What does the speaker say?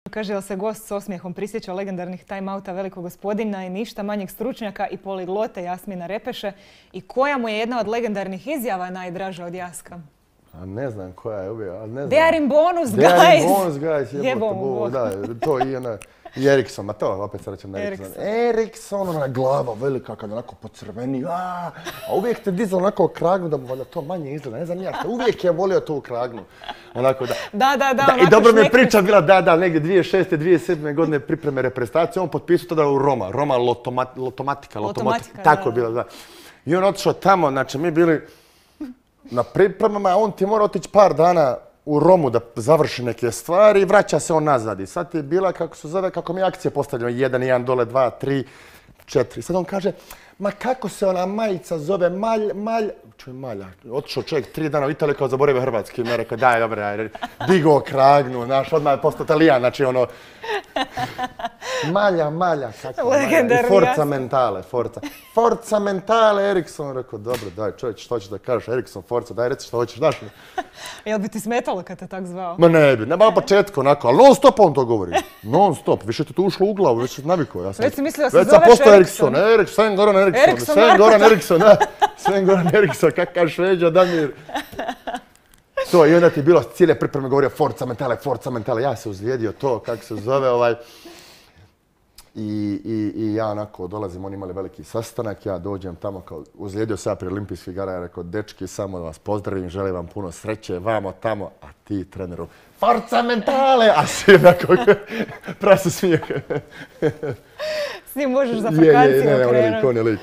Kaže, jel se gost s osmijehom prisjeća legendarnih time-outa velikog gospodina i ništa manjeg stručnjaka i poliglote Jasmina Repeše i koja mu je jedna od legendarnih izjava najdraža od Jaska? A ne znam koja je uvijek, ali ne znam. They are in bonus, guys! They are in bonus, guys, Jebo mu Bog. Da, to i ona, i Eriksson, a to opet se rećem na Eriksson. Eriksson, ona glava velika kad onako pocrveni, a uvijek te dizao onako kragnu da mu valjda to manje izgleda, ne znam ja, uvijek je volio tu kragnu. Onako da. Da, I dobro mi je priča bila, da, negdje 2006. 2007. godine pripreme reprezentacije, on potpisao tada u Roma Lotomatika, tako je bilo, da. I on otišao tamo, znači mi bili na pripremama, a on ti mora otići par dana u Romu da završi neke stvari i vraća se on nazad. I sad je bila, kako se zove, kako mi akcije postavljamo, 1 dole, 2, 3, 4. Sad on kaže, ma kako se ona majica zove, Malja. Otišao čovjek 3 dana u Italiju kao zaboravio hrvatski. I mi je rekao, daj, dobro, ajde. Digao kragnu, znaš, odmah je postao Italijan, znači ono... Malja, kako Malja. I Forza Mentale, Eriksson. Rekao, dobro, daj, čovječ, što ćeš da kažeš, Eriksson, Forza, daj, reci što hoćeš, daš mi. Jel bi ti smetalo kad te tak zvao? Ma ne bi, na početku onako, ali non stop on to govori. Non stop, više ti to ušlo u glavu, već si navikao. Već si mislio da se zoveš Eriksson. Sven Goran Eriksson, kakav Šveđa, Damir. To, i onda ti je bilo cijele pripreme govorio Forza Mentale, ja se uzlijedio to, kako se zove, I ja onako dolazim, oni imali veliki sastanak, ja dođem tamo kao uzlijedio se ja prije olimpijskih igara, ja rekao, dečki, samo da vas pozdravim, želim vam puno sreće, vamo tamo, a ti treneru, Forza Mentale, a svi onako prase smijeh. S njim možeš za vakancije okrenuti. On je lik.